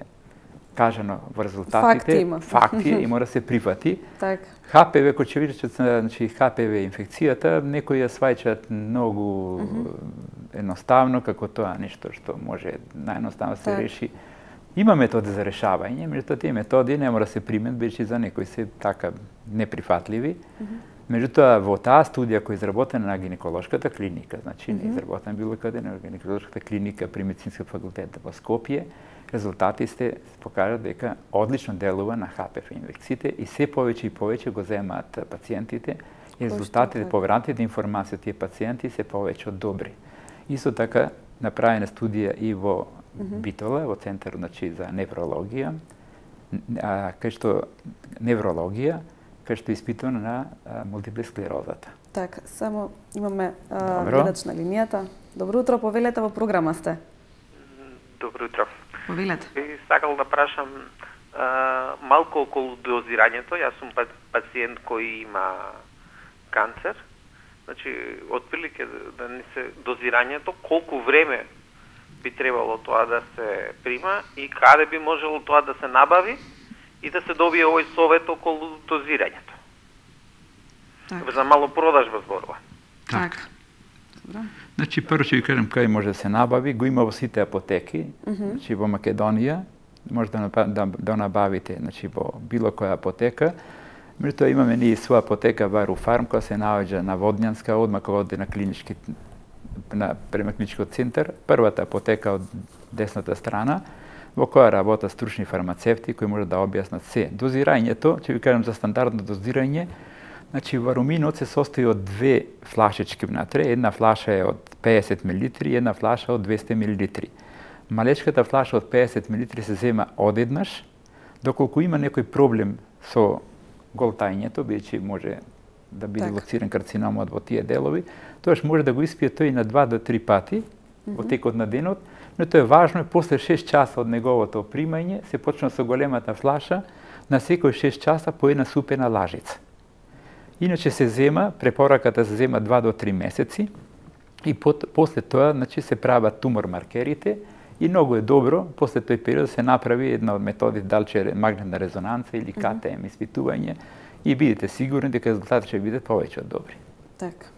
S2: кажано во резултатите, факти и мора се прифати.
S1: Така.
S2: ХПВ, кој ќе видите, значи ХПВ инфекцијата, некои ја сваќаат многу едноставно, како тоа нешто што може наједноставно се реши. Има методи за решавање, меѓутоа тие методи не мора да се примет, бидејќи за некои се така неприфатливи. Меѓутоа, во таа студија која е изработена на гинеколошката клиника, значи не изработена било каде, на гинеколошката клиника при медицинскиот факултет во Скопје, резултати се покажат дека одлично делува на ХПВ инфекциите и се повеќе и повеќе го земаат пациентите и резултатите, поверените информации од тие пациенти се повеќе од добри. Исто така направена студија и во Битола, во Центарот за неврологија, кај што испитувана на мултипла склерозата.
S1: Така, само имаме гледач на линијата. Добро утро, повелете, во програма сте.
S7: Добро утро.
S1: Повелете.
S7: Би сакал да прашам малку околу дозирањето. Јас сум пациент кој има канцер. Значи, отприлике да не се дозирањето, колку време би требало тоа да се прима и каде би можело тоа да се набави и да се добие овој совет околу дозирањето.
S1: Така.
S7: За мало продажба зборува.
S2: Така. Значи, прво ќе ви кажам кај може да се набави, го има во сите апотеки, значи во Македонија, може да набавите, значи во било која апотека. Меѓутоа имаме ние своја апотека Варуфарм која се наоѓа на Водњанска, одма кога оде на клинички према клиничкиот центар, првата апотека од десната страна, во која работат стручни фармацевти кои може да објаснат се. Дозирањето, ќе ви кажам за стандардно дозирање, значи варуминот се состои од две флашички внатре, една флаша е од 50 мл и една флаша од 200 мл. Малечката флаша од 50 мл се зема одеднаш, доколку има некој проблем со голтањето, бидејќи може да биде лоциран карциномот во тие делови, тоаш може да го испие тој на 2 до 3 пати во текот на денот, но тоа е важно е после 6 часа од неговото примање се почна со големата флаша на секој 6 часа по една супена лажица. Иначе се зема, препораката се зема 2 до 3 месеци и после тоа значи се прават тумор маркерите и многу е добро после тој период се направи една од методите дали магнетна резонанца или КТМ испитување и бидете сигурни дека резултатите ќе бидат повеќе од добри.
S1: Така.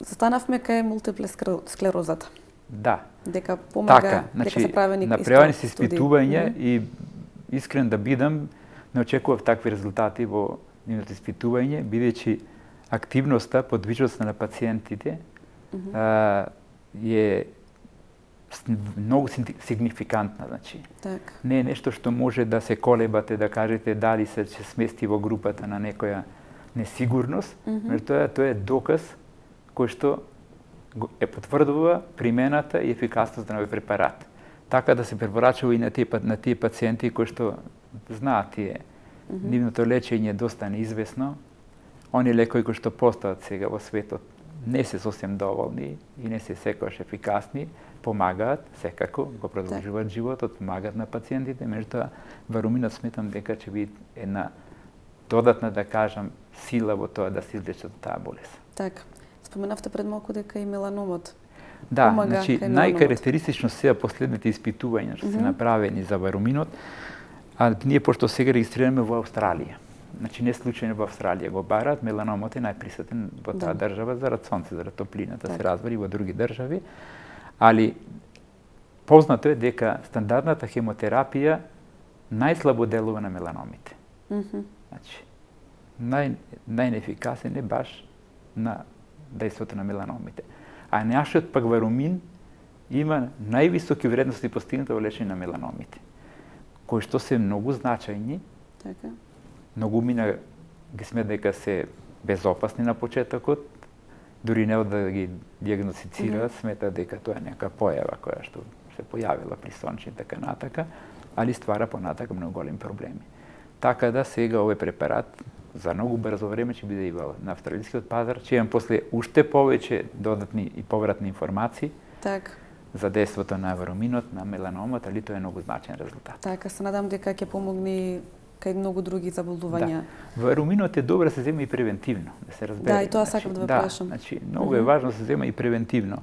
S1: Застанавме кај мултипла склерозата.
S2: Да.
S1: Дека помага,
S2: така, значи,
S1: дека се правени
S2: направени се испитувања и искрен да бидам, не очекував такви резултати во нивното испитување, бидејќи активноста, подвижноста на пациентите е многу сигнификантна, значи.
S1: Так.
S2: Не е нешто што може да се колебате, да кажете дали се ќе смести во групата на некоја несигурност, меѓутоа тоа е доказ кој што е потврдува примената и ефикасност на овој препарат. Така да се препорачува и на тие пациенти кои што знаат тие нивното лечење е доста неизвестно. Они лекови кои што постојат сега во светот не се сосем доволни и не се секогаш ефикасни, помагаат секако, го продолжуваат животот, помагаат на пациентите, меѓутоа варуминот сметам дека ќе биде една додатна, да кажам, сила во тоа да се излечат таа болест.
S1: Така. Споменавте пред малку дека и меланомот.
S2: Да, значи најкарактеристично се последните испитувања што се направени за варуминот, а ние пошто сега регистрираме во Австралија. Значи не случајно во Австралија го барат, меланомот е најприсутен во таа држава зарад сонце, зарад топлината, се разбери во други држави, али познато е дека стандардната хемотерапија најслабо делува на меланомите. Значи најнефикасен е баш на дејството на меланомите. А нашиот пак варумин има највисоки вредности постигнати во лечење на меланомите, кои што се многу значајни.
S1: Така.
S2: Многумина ги смета дека се безопасни на почетокот, дури не да ги диагностицираат, смета дека тоа е нека појава која што се појавила при сонче и така натака, али ствара понатака многу големи проблеми. Така да сега овој препарат за многу брзо време ќе биде и на австралискиот пазар, ќе имам после уште повеќе додатни и повратни информации за дејството на варуминот, на меланомот, али тоа е многу значаен резултат.
S1: Така, се надам дека ќе помогне кај многу други заболувања.
S2: Да. Варуминот е добро да се зема и превентивно, да се разбере.
S1: Да, и тоа сакам да ве прашам.
S2: Значи, многу е важно да се зема и превентивно.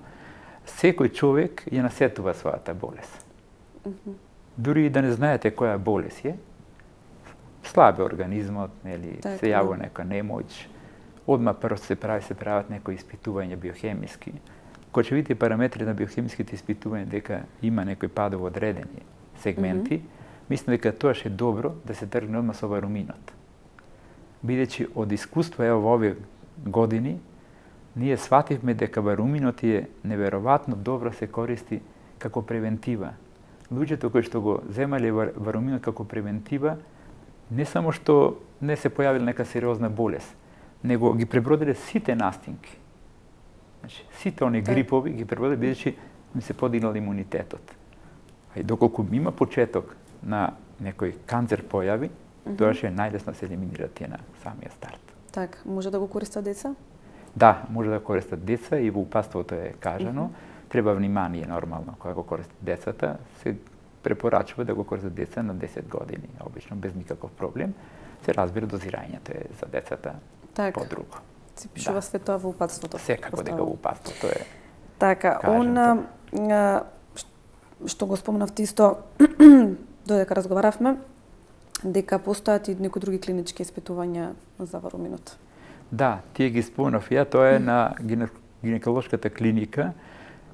S2: Секој човек ја насетува својата болест. Дури и да не знаете која болест е, слаб е организмот, нели, се јавува нека немоќ, одма прво се прават некои испитувања биохемиски. Кога ќе видите параметри на биохемиските испитувања дека има некои падово одредени сегменти, мислам дека тоа е добро да се тргне одма со варуминот. Бидејќи од искуство во овие години ние свативме дека варуминот е неверојатно добро се користи како превентива. Луѓето кои што го земале варуминот како превентива, не само што не се појавила нека сериозна болест, него ги пребродиле сите настинки. Значи, сите они грипови ги пребродиле бидејќи ми се подигнал имунитетот. А и доколку има почеток на некој канцер појави, тоа ќе е најлесно се елиминира тие на самиот старт.
S1: Така, може да го користат деца?
S2: Да, може да користат деца и во упатството е кажано. Треба внимание нормално кога го користат децата. Се препорачува да го користат деца на 10 години, обично без никаков проблем. Се разбира дозирањето е за децата подруго.
S1: Се пишува све тоа во упатството.
S2: Секако дека во упатството е.
S1: Така, што го спомнавте исто додека разговаравме, дека постојат и некои други клинички испитувања за варуминот.
S2: Да, тие ги спомнав ја, тоа е на гинеколошката клиника,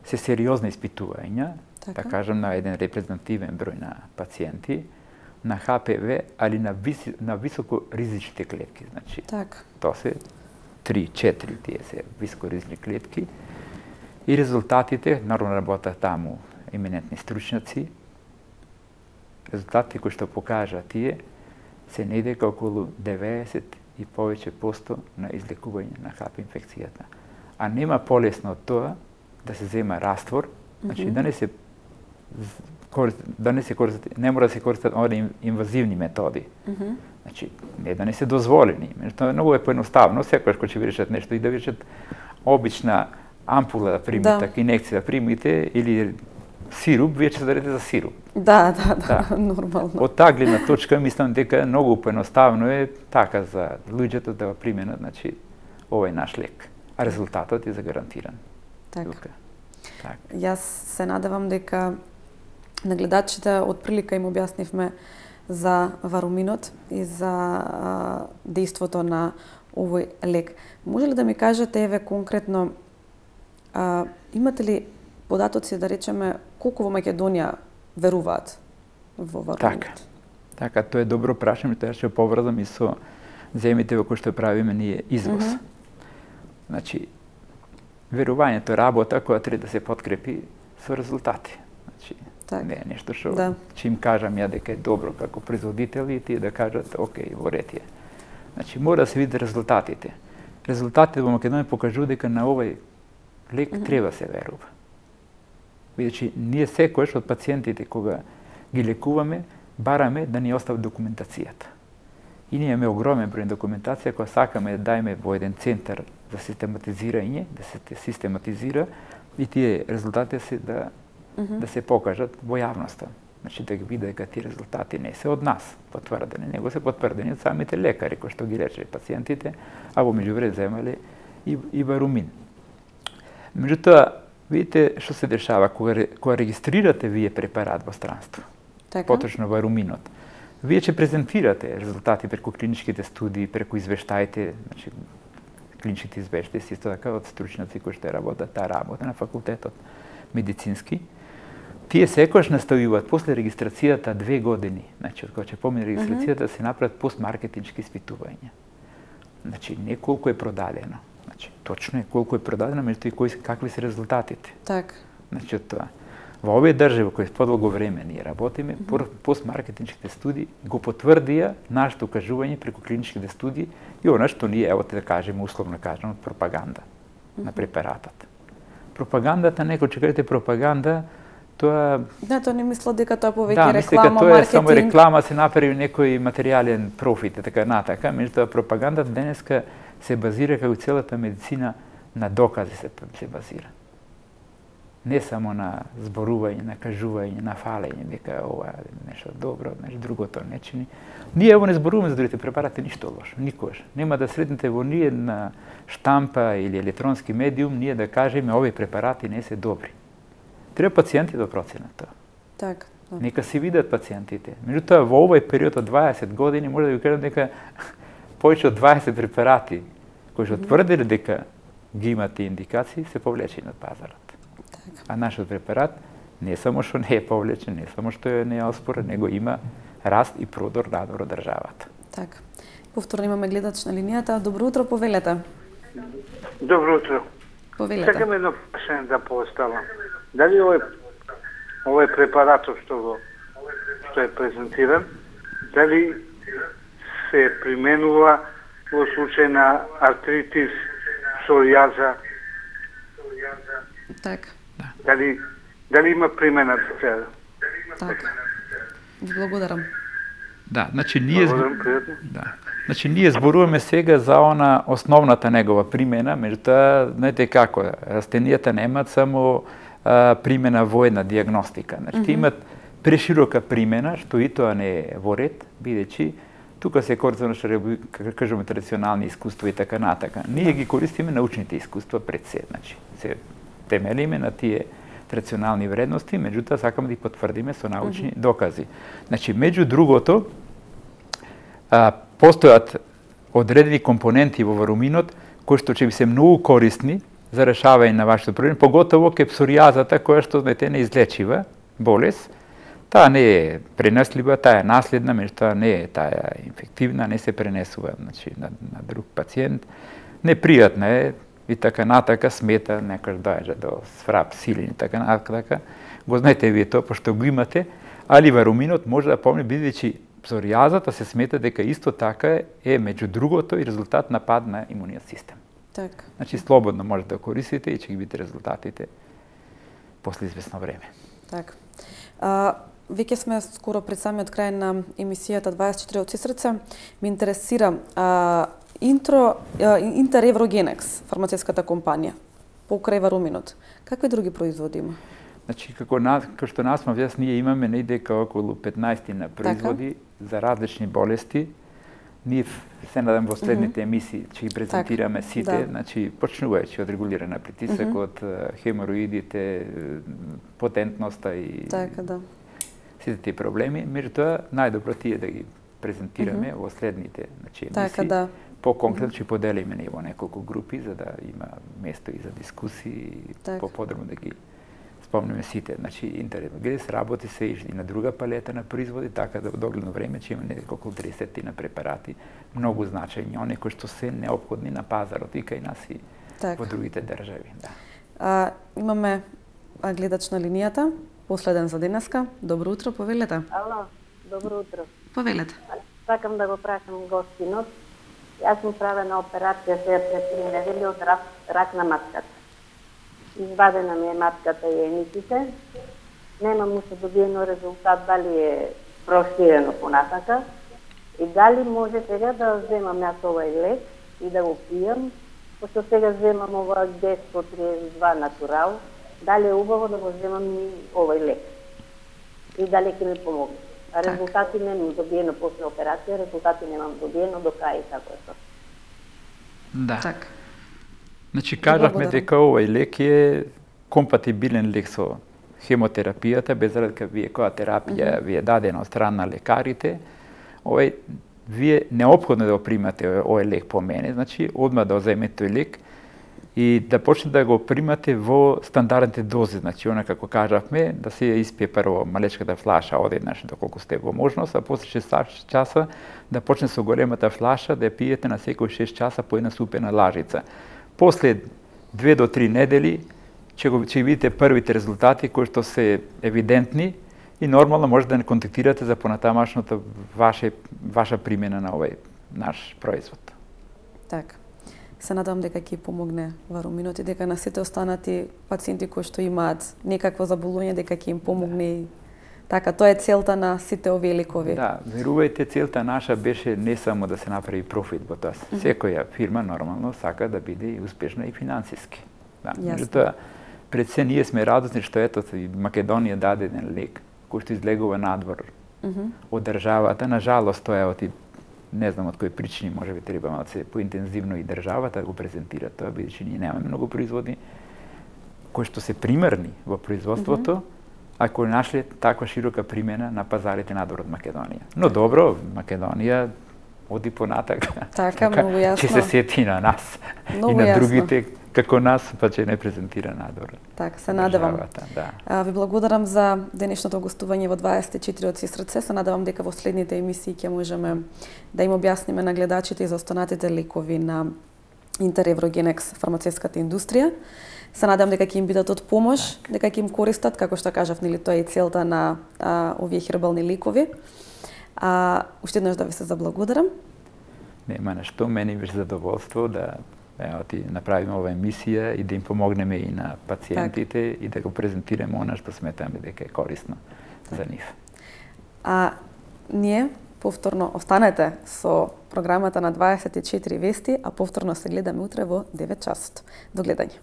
S2: се сериозни испитувања, да кажам на еден репрезентативен број на пациенти, на ХПВ, али на високо ризичните клетки. Значи, тоа се 3-4 тие се високо ризични клетки. И резултатите, наравно работат таму еминентни стручњаци, резултатите кои што покажа тие, се недека околу 90 и повеќе посто на излекување на ХП инфекцијата. А нема полесно од тоа да се зема раствор, значи да не се користат, не мора да се користат оние инвазивни методи. Значи, не да не се дозволени. Меѓутоа, многу е поедноставно, секогаш кога ќе ви решат нешто и да ви решат обична ампула да примите, така инекција да примите, или сируп, вие ќе се дадете за сируп.
S1: Да, нормално.
S2: Од таа гледна точка, мислам дека многу поедноставно е така за луѓето да го применат, значи, овој наш лек. А резултатот е загарантиран.
S1: Така. Јас се надевам дека на гледачите од прилика им објаснивме за варуминот и за дејството на овој лек. Може ли да ми кажете, еве, конкретно, имате ли податоци, да речеме, колку во Македонија веруваат во варуминот?
S2: Така, тоа е добро прашање, тоа ќе поврзам и со земите во кои што правиме ние извоз. Значи, верувањето е работа која треба да се подкрепи со резултати. Значи, не е нешто што ќе им кажам ја дека е добро како производители и тие да кажат, окей, во ред е. Значи, мора да се види резултатите. Резултатите во Македонија покажуваат дека на овој лек треба се верува. Бидејќи ние секојаш од пациентите кога ги лекуваме, бараме да ни остават документацијата. И ние имаме огромен број документација која сакаме да дајме во еден центар за систематизирање, да се систематизира и тие резултати се да се покажат во јавноста. Значи да ги види дека тие резултати не се од нас потврдени, него се потврдени од самите лекари кои што ги лечеле пациентите, а во меѓувреме земале и варумин. Меѓутоа, видите што се дешава кога регистрирате вие препарат во странство, поточно варуминот. Вие ќе презентирате резултати преку клиничките студии, преку извештаите, значи клиничките извештаи се исто така од стручњаци кои што работат таа работа на факултетот медицински. Тие секогаш наставуваат после регистрацијата 2 години, значи од кога ќе помине регистрацијата се направат постмаркетиншки испитувања. Значи не колку е продадено, значи точно е колку е продадено, меѓутоа и какви се резултатите.
S1: Така.
S2: Значи од тоа. Во овие држави кои подолго време ние работиме, постмаркетиншките студии го потврдија нашето кажување преку клиничките студии и она што ние, ево да кажеме, условно кажано, пропаганда на препаратот. Пропагандата, некој ќе кажете пропаганда, тоа...
S1: Да, тоа не мислам дека тоа повеќе
S2: реклама,
S1: маркетинг. Да,
S2: тоа е само реклама, се направи некој материјален профит, така натака. Меѓутоа, пропагандата денеска се базира, како целата медицина, на докази се базира. Не само на зборување, на кажување, на фалење, дека ова е нешто добро, нешто другото не чини. Ние ево не зборуваме за другите препарати ништо лошо, никогаш. Нема да сретнете во ние на штампа или електронски медиум, ние да кажеме овие препарати не се добри. Треба пациенти да проценат тоа.
S1: Така.
S2: Нека се видат пациентите. Меѓутоа, во овој период од 20 години, може да ви кажам дека повеќе од 20 препарати кои што тврдели дека ги имат тие индикации, се повлечени од пазарот. А нашиот препарат не само што не е повлечен, не само што не е оспорен, него има раст и продор надвор од државата.
S1: Така. Повторно имаме гледач на линијата. Добро утро, повелете.
S8: Добро утро.
S1: Повелете.
S8: Сакам едно прашање да поставам. Дали овој препаратот што е презентиран, дали се применува во случај на артритис, псоријаза?
S1: Така.
S8: Дали има примена за сега?
S1: Така. Благодарам.
S2: Да, значи ние зборуваме сега за она основната негова примена, меѓутоа, знаете како, растенијата немаат само примена во една диагностика. Значи имат преширока примена, што и тоа не е во ред, бидејќи тука се користат, што кажеме, традиционални искуства и така натака. Ние ги користиме научните искуства пред се, значи се темелиме на тие традиционални вредности, меѓутоа сакаме да ги потврдиме со научни докази. Значи, меѓу другото, постојат одредени компоненти во варуминот кои што ќе би се многу корисни за решавање на вашето проблем, поготово ке псоријазата која што знаете неизлечива болест. Таа не е пренослива, таа е наследна, меѓутоа не е таа инфективна, не се пренесува значи на друг пациент. Непријатна е и така натака, смета, некојаш доаѓа до сврап, силен и така натака. Го знаете вие тоа, пошто го имате, али варуминот може да помне, бидејќи псоријазата се смета дека исто така е меѓу другото и резултат на пад на имуниот систем.
S1: Така.
S2: Значи слободно можете да користите и ќе ги видите резултатите после известно време.
S1: Така. Веќе сме скоро пред самиот крај на емисијата 24 од сестрце. Ме интересира Интереврогенекс, фармацевската компанија, покрај варуминот. Какви други производи има?
S2: Значи, како што нас ние имаме недека околу 15 на производи за различни болести. Ние се надам во следните емисии ќе ги презентираме сите, значи почнувајќи од регулирана притисок, од хемороидите, потентноста и сите тие проблеми. Меѓутоа, најдобро ти е да ги презентираме во следните емисии. По-конкретно ќе поделиме во неколку групи за да има место и за дискусии, по-подробно да ги спомнеме сите. Значи, Интереврогенекс работи се и на друга палета на производи, така да во догледно време ќе има неколку 30 на препарати, многу значајни, оние кои што се неопходни на пазарот и кај нас и во другите држави.
S1: Имаме гледач на линијата, последен за денеска. Добро утро, повелете.
S9: Ало, добро утро.
S1: Повелете.
S9: Сакам да го прашам гостинот. Јас сум правена операција сега пред 3 недели од рак на матката. Извадена ми е матката и ениците. Немам уште добиено резултат дали е проширено понатака и дали може сега да земам јас овој лек и да го пијам, пошто сега земам ова Гесто 32 натурал, дали е убаво да го земам и овој лек и дали ќе ми помогне. Резултати немам добиено после операција, резултати немам добиено до крај и така е тоа.
S2: Да. Значи, кажавме дека овој лек е компатибилен лек со хемотерапијата, без разлика вие која терапија ви е дадена од страна на лекарите, вие неопходно да го примате овој лек по мене, значи одма да земете тој лек и да почнете да го примате во стандардните дози, значи она како кажавме, да се испие прво малечката флаша одеднаш доколку сте во можност, а после 6 часа да почне со големата флаша да ја пиете на секој 6 часа по една супена лажица. После 2 до 3 недели ќе видите првите резултати кои што се евидентни и нормално може да не контактирате за понатамашната ваша примена на овој наш производ.
S1: Така. Се надам дека ќе помогне варуминот и дека на сите останати пациенти кои што имаат некакво заболување дека ќе им помогне и така, тоа е целта на сите овие лекови.
S2: Да, верувајте, целта наша беше не само да се направи профит во тоа. Секоја фирма нормално сака да биде и успешна и финансиски. Да, меѓутоа, пред се ние сме радосни што ето Македонија даде еден лек кој што излегува надвор од државата. На жалост тоа е не знам од кои причини, може би треба да се поинтензивно и државата го презентира тоа, бидејќи ние немаме многу производи кои што се примерни во производството, ако нашле таква широка примена на пазарите надвор од Македонија. Но добро, Македонија оди понатака.
S1: Така, многу јасно.
S2: Ќе се сети на нас и на другите како нас, па ќе не презентира надвор.
S1: Така, се надевам. Ви благодарам за денешното гостување во 24 од сестрце. Се надевам дека во следните емисии ќе можеме да им објасниме на гледачите и за останатите лекови на Интереврогенекс фармацевската индустрија. Се надам дека ќе им бидат од помош, дека ќе им користат, како што кажав, нели тоа е целта на овие хербални лекови. Уште еднаш да ви се заблагодарам.
S2: Нема на што, мене беше задоволство да направиме ова емисија и да им помогнеме и на пациентите и да го презентираме она што сметаме дека е корисно за нив.
S1: Ние повторно останете со програмата на 24 вести, а повторно се гледаме утре во 9 часот. До гледање.